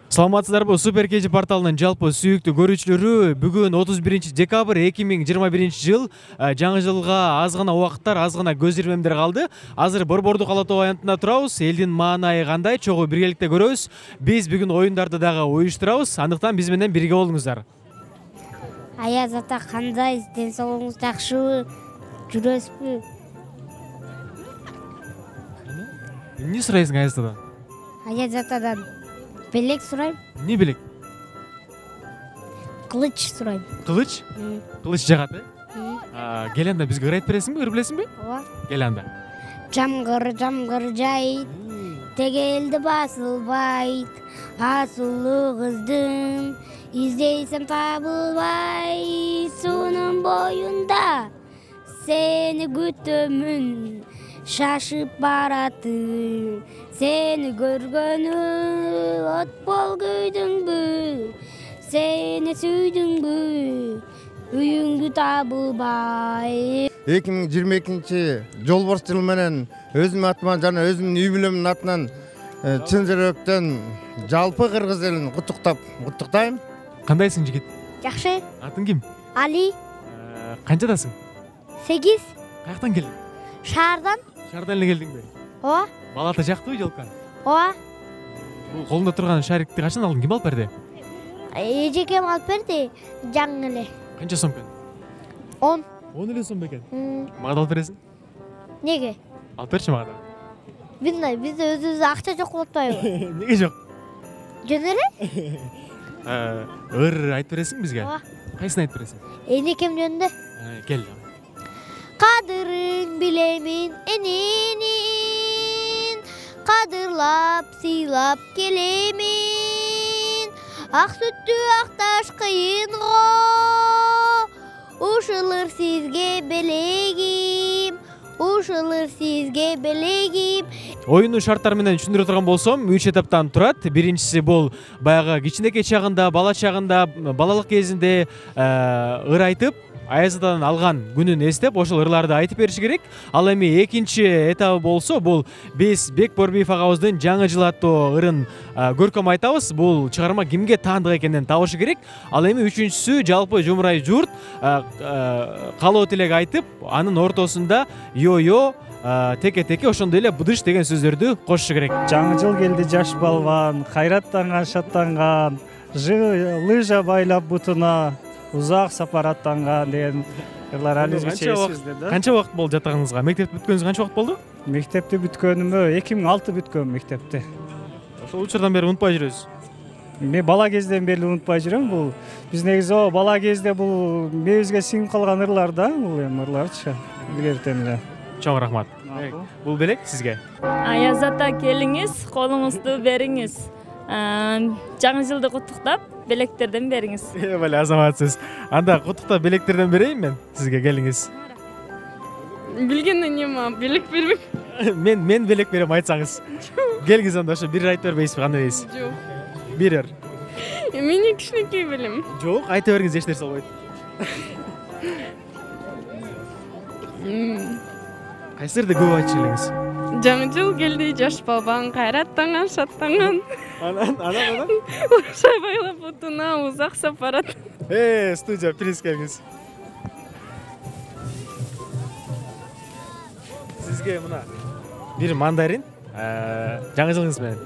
Саламатсыздарбы? Супер KG порталынын жалпы сүйүктүү көрүүчүлөрү, бүгүн 31 декабрь 2021 жыл. Жаңы жылга аз гана убакыттар, аз гана көз ирмемдер калды. Азыр Борбордук ала тоо аянтында турабыз. Элдин маанайы кандай? Чогуу биргеликте көрөбүз. Биз бүгүн оюндарды дагы уюштурабыз. Андыктан биз менен бирге болуңуздар. Аяз ата кандай? Ден соолугуңуз жакшыбы? Жүрөсүзбү? Эмне сурайсың Аяз атадан? Аяз атадан белек сурайм. Эмне белек? Кылыч сурайм. Кылыч? Кылыч жагат, Кел анда бизге ырайт бересиңби, ыр билесиңби? Ооба. Кел анда. Жамгыр жайт, тегелди басылбайт, асулуу кыздым, издейсем табылбайт, суунун боюнда сени күтөмүн, шашып баратым, сени көргөнү от бол күйдүңбү, сени сүйдүңбү, үйүңдү табылбай. 2022 жолборс жылы менен өзүмдүн атыман жана өзүмдүн үй бүлөмдүн атынан чын жүрөктөн жалпы кыргыз элин куттуктайм. Кандайсың жигит? Жакшы. Атың ким? Али. Канчадасың? 8. Каяктан келдиң? Шаардан. Шаардан эле келдиңби? Ооба. Балата жактыбы жолка? Ооба. Бул колуңда турган шарикти качан алдың? Ким алып берди? Эжекем алып берди, жаңы эле. Канча сом экен? 10. 10 эле сом бекен. Мага да алып бересиң? Неге? Алып берчи мага да. Бизде өзүбүздө акча жок болуп атпайбы? Неге жок? Жөн эле? Ыр айтып бересиң бизге? Ооба. Кайсын айтып бересиң? Энекем жөнүндө. Кел. Кадырың билемин эненин, кадырлап сыйлап келемин. Ак сүттү акташ кыйынго, ушулur сизге белегим, ушулur сизге белегим. Оюндун шарттары менен түшүндүрө турган болсом, 3 этаптан турат. Биринчиси бул баягы кичинекей чагында, бала чагында, балалык кезинде ыр айтып, Аяз атадан алган күнүн эстеп, ошол ырларды айтып бериши керек. Ал эми экинчи этабы болсо, бул биз Бек Борбиев агабыздын жаңы жыл аттуу ырын көркөм айтабыз. Бул чыгарма кимге таандык экенин табышы керек. Ал эми үчүнчүсү жалпы жумурай журт каалоо тилек айтып, анын ортосунда йо-йо, теке-теке, ошондой эле быдыш деген сөздөрдү кошушу керек. Жаңы жыл келди жаш балбан, кайраттанган, шаттанган, лыжа байлап бутуна, узак сапар аттанган деген ырлар ализбиче эсибизде да. Канча убакыт болду жатканыңызга? Мектепти бүткөнүңүзгө канча убакыт болду? Мектепти бүткөнүмө 2006 бүткөм мектепти. Ошол учурдан бери унутпай жүрөсүз. Мен бала кезден бери унутпай жүрөм. Бул биз негизи бала кезде бул мээбизге сиңип калган ырлар да, бул эми ырларчы. Билерден эле. Чоң рахмат. Бул белек сизге. Аяз ата келиңиз, колуңузду бериңиз. Жаңы жылды куттуктап, белектерден бериңиз. Бале, азаматсыз. Анда куттуктап белектерден берейин мен сизге, келиңиз. Билгенден эме, белек бербек. Мен белек берем айтсаңыз. Келиңиз анда, ошо бир айтып бербейсизби, кандай дейсиз? Жок. Бир ыр. Мен кичинекей билем. Жок, айта бериңиз, эч нерсе болбойт. Кайсырды көп айтчу элеңиз? Жаңы жыл келди, жаш балбан, кайраттанган, шаттанган. Анан? Ушай байлап бутуна, узак сапар ат. Студия, приз келиңиз. Сизге мына бир мандарин, жаңы жылыңыз менен.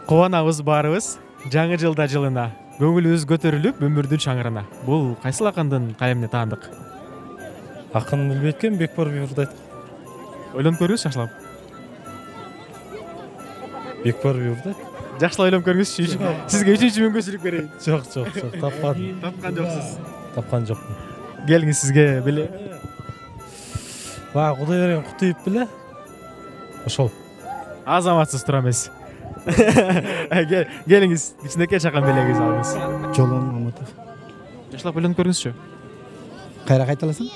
Кубанабыз баарыбыз, жаңы жылда жылына, көңүлүбүз көтөрүлүп, өмүрдүн шаңырына. Бул кайсыл акындын калемине таандык? Акын билбейт экен, Бек Борбиевди айтып. Ойлонуп көрүңүз, жакшылап. Бек Борбиевди. Жакшылап ойлонуп көрүңүзчү. Сизге 3-чү мүмкүнчүлүк берейин. Жок, тапкан. Тапкан жоксуз. Тапкан жокмун. Келиңиз, сизге беле. Кудай берген кутуйуп беле. Ошол. Азаматсыз тура эмес. Келиңиз, кичинекей чакан белегиңизди алыңыз. Жолон Маматов. Жакшылап ойлонуп көрүңүзчү. Кайра кайталасың?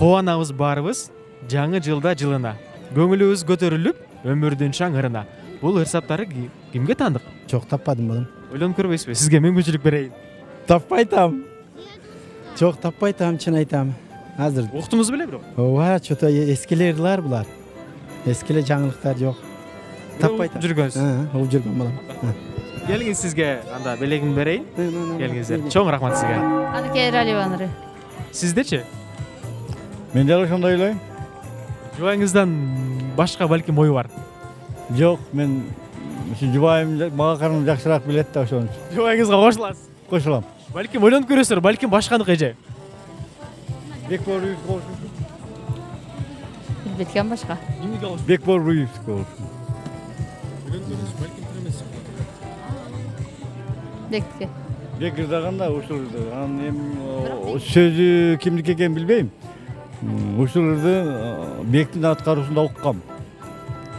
Кубанабыз баарыбыз, жаңы жылда жылына, көңүлүбүз көтөрүлүп, өмүрдүн шаңырына. Бул ырсаптары кимге таандык? Жок, таппадым балам. Ойлонуп көрбөйсүзбү? Сизге мүмкүнчүлүк берейин. Таппайтам. Жок, таппайтам, чын айтам. Азыр. Уктуңуз беле бирок? Ооба, чото эскилерлер булар. Эскиле жаңылыктар жок. Таппайтам. Жүргөнсүз. Угуп жүргөн балам. Келиңиз сизге анда белегимди берейин. Келиңиздер. Чоң рахмат сизге. Аныкей Раливаныры. Сиздечи? Мен дагы ошондой ойлойм. Жубайыңыздан башка балким ою бар. Жок, мен жубайым мага караганда жакшыраак билет да ошон үчүн. Жубайыңызга кошуласыз. Кошулам. Балким ойлонуп көрөсүздөр, балким башканыкы эже. Бекбол Руевич болсун. Билбейт экен башка. Кимдики болсун? Бекбол Руевич болсун. Бекке. Бек ырдаганда ушул анан эми сөзү кимдики экенин билбейм. Ушул ырды Бектин аткаруусунда уккам.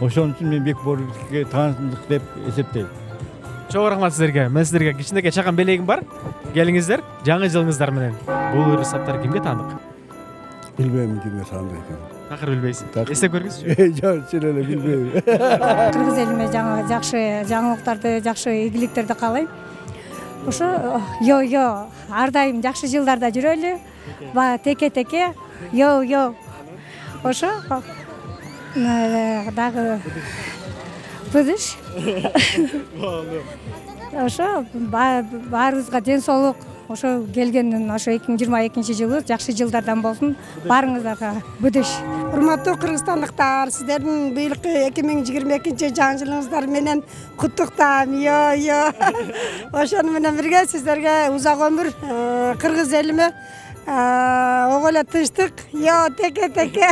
Ошон үчүн мен Бекбол Руевичке таандык деп эсептейм. Чоң рахмат сиздерге. Мен сиздерге кичинекей чакан белегим бар. Келиңиздер. Жаңы жылыңыздар менен. Бул ырсаттар кимге таандык? Билбейм кимге таандык экенин. Такыр билбейсиз. Эстеп көрүңүзчү. Жок, чын эле билбейм. Кыргыз элиме жакшы жаңылыктарды, жакшы ийгиликтерди каалайм. Ошо йо ар дайым жакшы жылдарда жүрөлү. Теке. Йо. Ошо дагы быдыш. Ошо баарыбызга ден соолук. Ошо келгенден ошо 2022-жылы жакшы жылдардан болсун. Баарыңыздарга быдыш. Урматтуу кыргызстандыктар, сиздердин быйылкы 2022-жаңы жылыңыздар менен куттуктайм. Йо. Ошону менен бирге сиздерге узак өмүр, кыргыз элиме ого эле тынчтык, теке.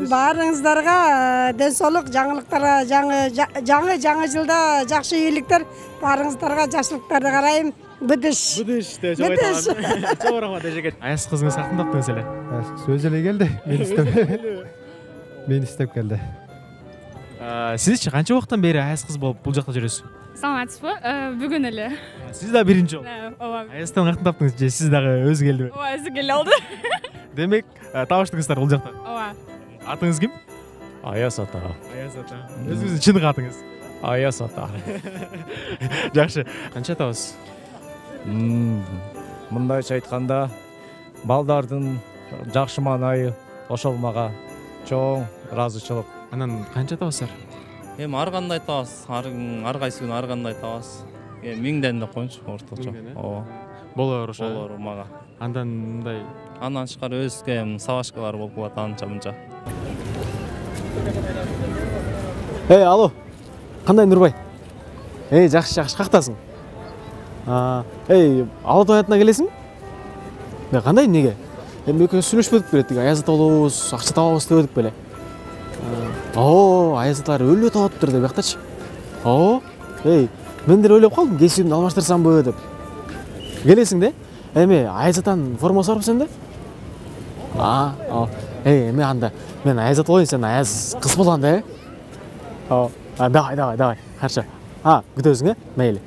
Баарыңыздарга ден соолук, жаңылыктарга, жаңы жылда жакшы ийгиликтер, баарыңыздарга жакшылыктарды карайм. Быдыш деп жабайт. Чоң рахмат эжеке. Аяз кызыңыз кантиптыңыз эле? Өзү эле келди. Мени иштеп келди. Сизчи канча убакыттан бери аяз кыз болуп бул жакта жүрөсүз? Саламатсызбы? Бүгүн эле. Сиз да биринчи жолу. Ооба. Аяздан кантип таптыңыз же сиз дагы өзү келдиби? Ооба, өзү келе алды. Демек, табыштыңыздар бул жакта. Ооба. Атыңыз ким? Аяз ата. Аяз ата. Өзүңүздүн чыныгы атыңыз? Аяз ата. Жакшы. Канча атабыз? Мындайча айтканда, балдардын жакшы маанайы ошол мага чоң ыраазычылык. Анан канча атабыздар? Эми ар кандай айтабыз, ар кайсы күнү ар кандай айтабыз. 1000ден деп коюнчу орточо. Ооба. Болор ошо. Болор мага. Андан мындай. Андан тышкары өзгө сабашкалар болуп калат анча-мынча. Алло. Кандай Нурбай? Жакшы, кактасың? Ала тоятына келесиңби? Кандай эмнеге? Эми экөөбүз сүйлөшпөдүк беле, тиги аяз ата болобуз, акча табабыз дебедик беле. Аяз аталар өлүп атаптыр деп бияктачы. Мен деле ойлоп калдым, кесибимди алмаштырсамбы деп. Келесиң да? Эми аяз атанын формасы барбы сенде? Эми анда мен аяз ата болоюн, сен аяз кыз болгон да. Давай. Хорошо. Күтөбүз, мейли.